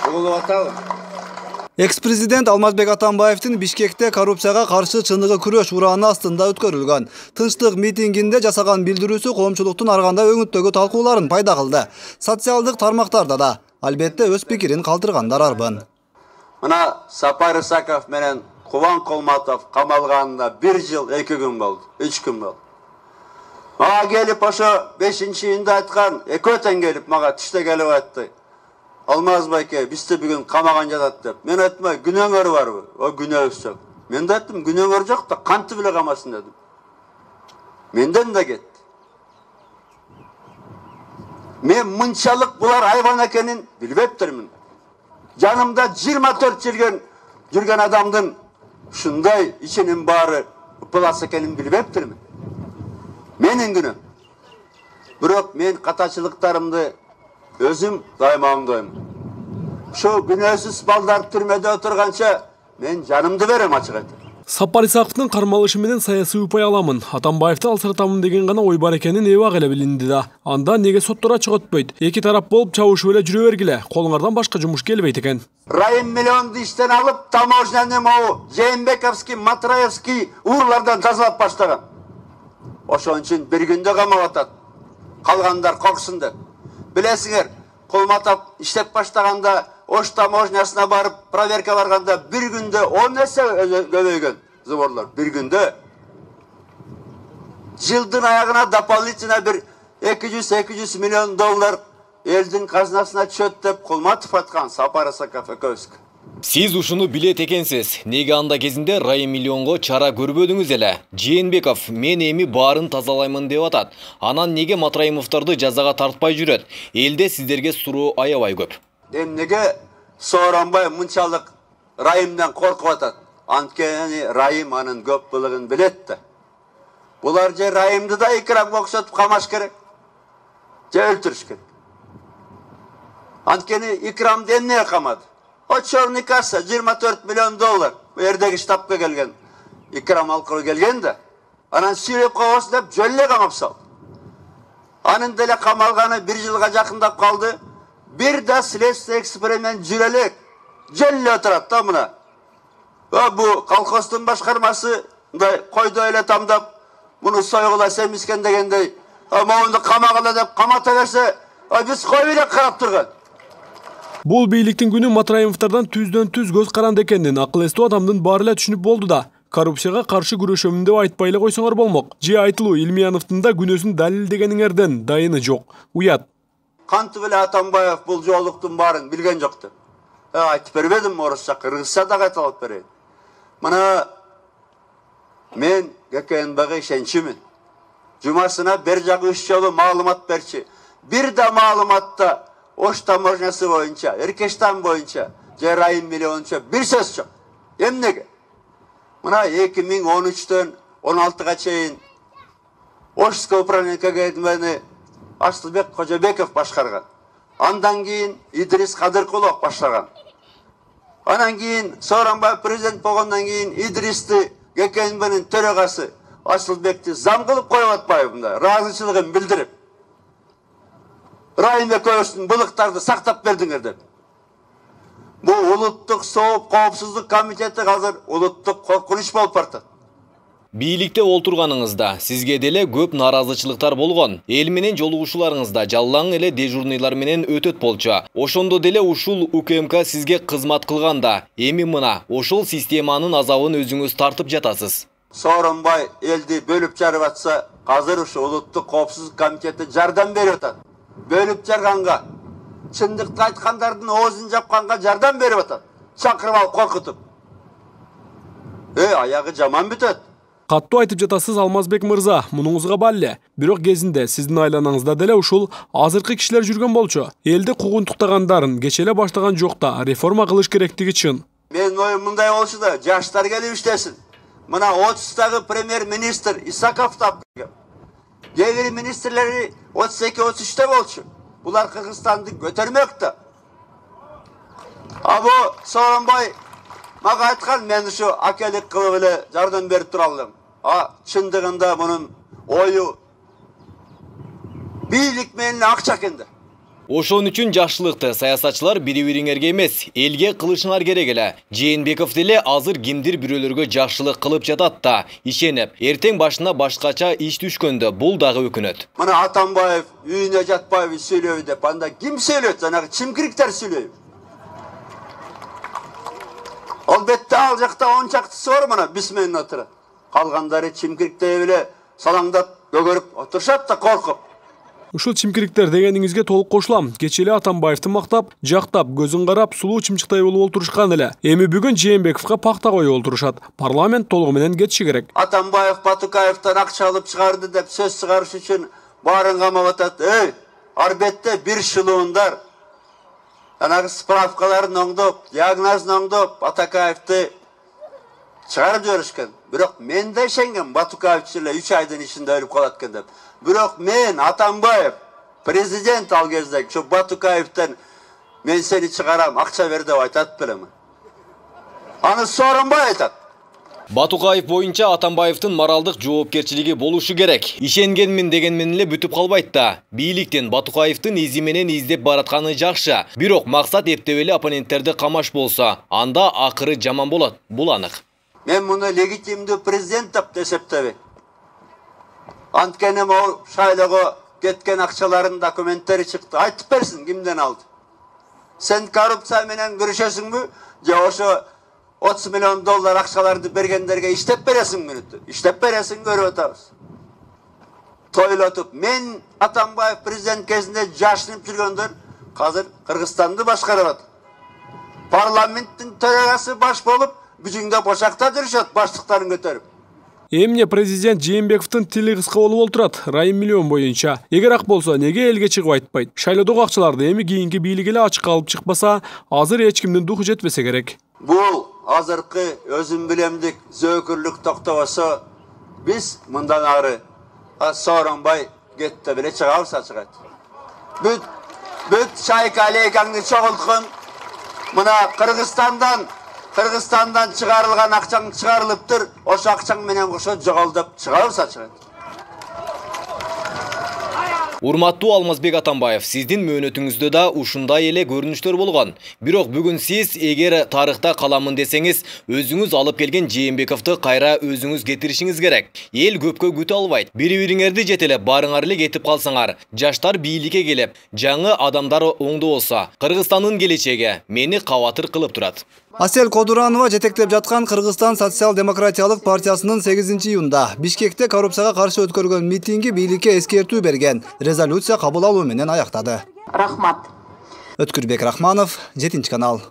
угулуп атабы? Экс-президент Алмазбек Атамбаевдин Бишкекте коррупцияга каршы чыныгы күрөш урааны астында өткөрүлгөн тынчтык митингинде жасаган билдирүүсү коомчулуктун ар кандай өңүттөгү талкууларын пайда кылды. Социалдык тармактарда да албетте өз пикирин калтыргандар арбын. Мына Сапар Исаков менен Кубан Колматов камалганына 1 жыл 2 күн болду, 3 күн болду. Мага келип ошо 5-июнда айткан, экөө тең келип мага түштө келип айтты. Алмазбайке, бизди бүгүн камаган жатат деп. Мен айттым, күнөөңөр барбы? О, күнөөбүз жок. Мен да айттым, күнөөңөр жок да кантип эле камасын дедим. Менден да кетти. Мен мынчалык булар айбан экенин билбептермин. Жанымда 24 жыл жүргөн адамдын ушундай ичинин баары ыпылас экенин билбептермин. Менин күнөөм. Бирок мен катачылыктарымды өзүм дайыма оңдойм. Ошо күнөөсүз балдар түрмөдө отурганча мен жанымды берем ачык айтып. Сапар Исаковдун кармалышы менен саясий упай аламын, Атамбаевди алсыратамын деген гана ой бар экенин эбак эле билинди да. Анда неге соттора чыгытпайт? Эки тарап болуп чабышып эле жүрө бергиле. Колуңардан башка жумуш келбейт экен. Райым миллионду иштен алып, таможняны могу Жээнбековский, Матраевский уурлардан тазалап баштаган. Ошон үчүн бир күндө камап атат. Калгандар корксун деп. Билесиңер, Колматов иштеп баштаганда Ош таможнясына барып, проверка барганда бир күндө 10 эсе көбөйгөн заборлор. Бир күндө. Жылдын аягына дополнительно бир 200-200 миллион доллар элдин казынасына түшөт деп Колматов айткан, Сапар Исаков экөөбүз. Сиз ушуну билет экенсиз. Неге анда кезинде Райым миллионго чара көрбөдүңүз эле? Жээнбеков мен эми баарын тазалаймын деп атат. Анан неге Матраимовдорду жазага тартпай жүрөт? Элде сиздерге суроо аябай көп. Неге Сооронбай мынчалык Райымдан коркуп атат? Анткени Райым анын көп былыгын билет да. Булар же Райымды да Икрамга окшотуп камаш керек, же өлтүрүш керек. Анткени Икрамды эмне камады? O Черный касса 24 миллион доллар. Bu yerdeki штабка келген. Икрам алкылы келген да. Анан сүйреп калбасын деп жөлле камап салды. Анын деле камалганы 1 жылга жакындап калды. Бир да следствие эксперимент жүрө элек. Жөлле отурат да мына. Бу колхоздун башкармасы мындай койдой эле тамдап, муну сойгула семискен дегендей, моунду камагыла деп камата берсе, биз коюп эле карап турган. Бул бийликтин күнү Матраимовдордон түздөн-түз көз каранды экенин акыл эстүү адамдын баары эле түшүнүп болду да. Коррупцияга каршы күрөшөмүн деп айтпай эле койсоңор болмок. Же айтылуу Илмияновдун да күнөөсүн далилдегениңерден дайыны жок. Уят. Кантип эле Атамбаев бул жоолуктун баарын билген жок деп. Айтып бербедим орусча, кыргызча да кайталап берейин. Мына мен ГКНБга ишенчимин. Жумасына бир жагы 3 жолу маалымат берчи. Бир да маалыматта Ош таможнясы боюнча, Эркештан боюнча, же Райым миллионча бир сөз жок. Эмнеге? Мына 2013-төн 16-га чейин Ошское управление КГБны Асылбек Кожобеков башкарган. Андан кийин Идрис Кадыркулов баштаган. Анан кийин Сооронбай президент болгондон кийин Идристи ГКНБнын төрөгасы Асылбекти зам кылып коюп атпайбы, ыраазычылыгын билдирип. Райым экөөбүздүн былыктарды сактап бердиңер деп. Бу улуттук сооп коопсуздук комитети азыр улуттук коркунуч болуп бартат. Бийликте олтурганыңызда сизге деле көп наразычылыктар болгон. Эл менен жолугушууларыңызда жалаң эле дежурныйлар менен өтөт болчу. Ошондо деле ушул УКМК сизге кызмат кылганда, эми мына ошол системанын азабын өзүңүз тартып жатасыз. Сооронбай элди бөлүп жарып атса, азыр ушу улуттук коопсуздук комитети жардам берип атат. Бөлүп жарганга, чындыкты айткандардын оозун жапканга жардам берип атат. Чакырып алып коркутуп. Аягы жаман бүтөт. Каттуу айтып жатасыз Алмазбек мырза, мунуңузга балле. Бирок кезинде сиздин айланаңызда деле ушул азыркы кишилер жүргөн болчу. Элди куугунтуктагандарын кече эле баштаган жок да, реформа кылыш керектиги чын. Менин оюм мындай болчу да, жаштар келип иштесин. Мына 30-тагы премьер-министр Исаков тапкан. Дегери министрлери 32-33-те болчу. Булар Кыргызстанды көтөрмөк да. Бу Сооронбай мага айткан, мен ушу акелик кылып эле жардам берип тура алдым. Чындыгында мунун ою бийлик менен акча экенде. Ошон үчүн жакшылыкты саясатчылар бири-бириңерге эмес, элге кылышыңар керек эле. Жээнбеков деле азыр кимдир бирөөлөргө жакшылык кылып жатат да, ишенип, эртең башына башкача иш түшкөндө бул дагы өкүнөт. Мына Атамбаев үйүнө жатпайбы сүйлөбү деп, анда ким сүйлөйт? Жанагы чимкириктер сүйлөйбү. Албетте ал жакта 10 чактысы бар, мына бисменен отурат. Калгандары чимкириктей эле салаңдап көгөрүп отурушат да коркуп. Ушул чимкириктер дегениңизге толук кошулам. Кечээ эле Атамбаевди мактап, жактап, көзүн карап, сулуу чымчыктай болуп олтурушкан эле. Эми бүгүн Жээнбековго пакта коюп олтурушат. Парламент толугу менен кетиши керек. Атамбаев Батукаевтан акча алып чыгарды деп сөз чыгарыш үчүн баарын камап атат. Арбетте бир шылуундар жанагы справкаларын оңдоп, диагнозун оңдоп, Атакаевди чыгарып жиберишкен. Бирок мен да ишенгем, Батукаев эле 3 айдын ичинде өлүп калат экен деп. Бирок мен Атамбаев президент ал кезде ушу Батукаевден мен сени чыгарам, акча бер деп айтат белем. Аны Сооронбай айтат. Батукаев боюнча Атамбаевдин моралдык жоопкерчилиги болушу керек. Ишенгенмин дегенмен эле бүтүп калбайт да. Бийликтин Батукаевдин изи менен издеп баратканы жакшы. Бирок максат эптеп эле оппоненттерди камаш болсо, анда акыры жаман болот. Бул анык. Мен муну легитимдүү президент деп эсептебейм. Анткени могу шайлоого кеткен акчалардын документтери чыкты. Айтып берсин кимден алды. Сен коррупция менен күрөшөсүңбү? Же ошо 30 миллион доллар акчаларды бергендерге иштеп бересиңби? Иштеп бересиң, көрүп атабыз. Тойлотуп, мен Атамбаев президент кезинде жашынып жүргөндөр азыр Кыргызстанды башкарып атат. Парламенттин төрагасы баш болуп, бүжүңдө бошакта жүрүшөт, баштыктарын көтөрүп. Эмне президент Жээнбековдун тили кыска болуп олтурат, Райым миллион боюнча. Эгер ак болсо, неге элге чыгып айтпайт? Шайлоодогу акчаларды эми кийинки бийлик эле ачыкка алып чыкпаса, азыр эч кимдин духу жетпесе керек. Бул азыркы өзүм билемдик зөөкүрлүк токтобосо, биз мындан ары Сооронбай кетти беле чыгабыз ачык. Бүт Шайка Алейкаңды чогулткун. Мына Кыргызстандан чыгарылган акчаң чыгарылыптыр. Ошо акчаң менен кошо жоголдуп чыгабыз ачык. Урматтуу Алмазбек Атамбаев, сиздин мөөнөтүңүздө да ушундай эле көрүнүштөр болгон. Бирок бүгүн сиз эгер тарыхта каламын десеңиз, өзүңүз алып келген Жээнбековду кайра өзүңүз кетиришиңиз керек. Эл көпкө күтө албайт. Бири-бириңерди жетелеп, барыңар эле кетип калсаңар, жаштар бийликке келип, жаңы адамдар оңдо болсо, Кыргызстандын келечеги мени кабатыр кылып турат. Асел Кодуранова жетектеп жаткан Кыргызстан социал-демократиялык партиясынын 8-июнда Бишкекте коррупцияга каршы өткөргөн митинги бийликке эскертүү берген, резолюция кабыл алуу менен аяктады. Рахмат. Өткүрбек Рахманов, 7 канал.